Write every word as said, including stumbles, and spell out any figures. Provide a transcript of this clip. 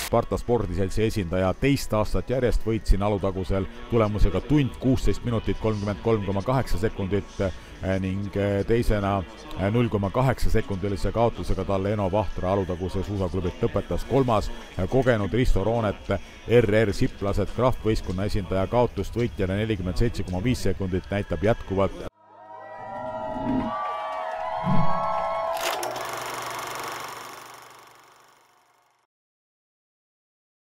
Sparta spordiseltsi esindaja teist aastat järjest võitsin Alutagusel tulemusega tund kuusteist minutit kolmkümmend kolm koma kaheksa sekundit ning teisena null koma kaheksa sekundilise kaotusega talle Eno Vahtra Alutaguse suusaklubilt lõpetas kolmas. Kogenud Risto Roonet R R Siplased kraftvõistkonna esindaja kaotust võitjale nelikümmend seitse koma viis sekundit näitab jätkuvalt